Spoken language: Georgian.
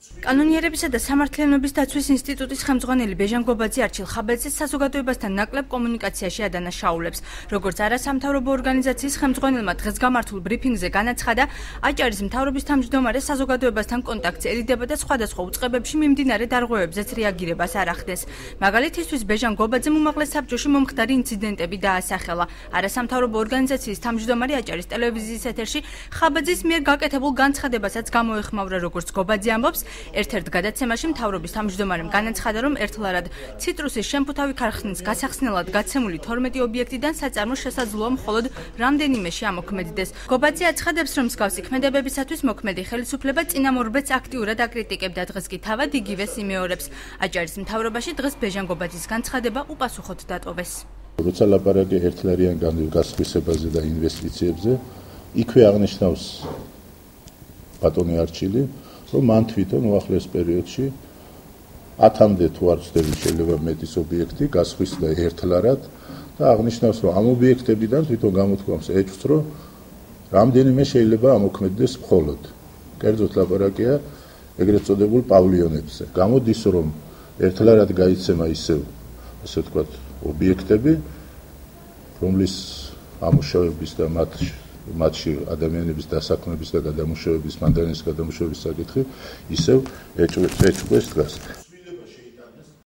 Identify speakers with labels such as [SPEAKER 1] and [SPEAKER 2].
[SPEAKER 1] კანონიერებისა და სამართლიანობის დაცვის ინსტიტუტის ხელმძღვანელი ბეჟან გობაძე არჩილ ხაბაძე საზოგადოებასთან ნაკლებ კომუნიკაციაში ადანაშაულებს. როგორც არასამთავრობო ორგანიზაციის ხელმძღვანელმა დღეს გამართულ ბრიფინგზე განაცხადა, აჭარის მთავრობის თავმჯდომარე საზოგადოებასთან კონტაქტზეერიდება და სხვადასხვა უწყებებში მიმდინარე დარღვევებზეც რეაგირებას არ ახდენს. მაგალითისთვის ბეჟან გობაძემ უმაღლეს საბჭოში მომხდარი ინციდენტები დაასახელა. არასამთავრობო ორგანიზაციის თავმჯდომარე აჭარის ტელევიზიის ეთერში ხაბაძის მიერ გაკეთებულ განცხადებასაც გამოეხმაურა, როგორც გობაძე ამბობს. ერთ-ერთ გადაცემაში მთავრობის თავმჯდომარემ განაცხადა, რომ ერთლარად ციტრუსის შემფუთავი ქარხნის გასახსნელად გაცემული 12 ობიექტიდან საწარმო შესაძლოა მხოლოდ რამდენიმეში ამოქმედდეს. გობაძე აცხადებს, რომ მსგავსი ქმედებებისათვის მოქმედი ხელისუფლება წინამორბედს აქტიურად აკრიტიკებდა, დღეს კი თავად იგივეს იმეორებს. აჭარის მთავრობაში დღეს ბეჟან გობაძის განცხადება უპასუხოდ დატოვეს.
[SPEAKER 2] როცა ლაპარაკი ერთლარიან გასხვისებაზე და ინვესტიციებზე, იქვე აღნიშნავს ბატონი არჩილი, რომ მან თვითონ უახლეს პერიოდში 10-მდე თუ არ ვცდები შეიძლება მეტის ობიექტი გასხვისდა ერთლარად და აღნიშნავს, რომ ამ ობიექტებიდან თვითონ გამოთქვამს ეჭვს, რომ რამდენიმე შეიძლება ამოქმედდეს მხოლოდ. კერძოდ ლაპარაკია ეგრეთ წოდებულ პავლიონებზე. გამოდის, რომ ერთლარად გაიცემა ისევ, ასე ვთქვათ, ობიექტები, რომლის ამუშავების და მათში ადამიანების დასაქმების და გადამუშავების, მანდანის გადამუშავების საკითხი ისევ ეჭვს დგას.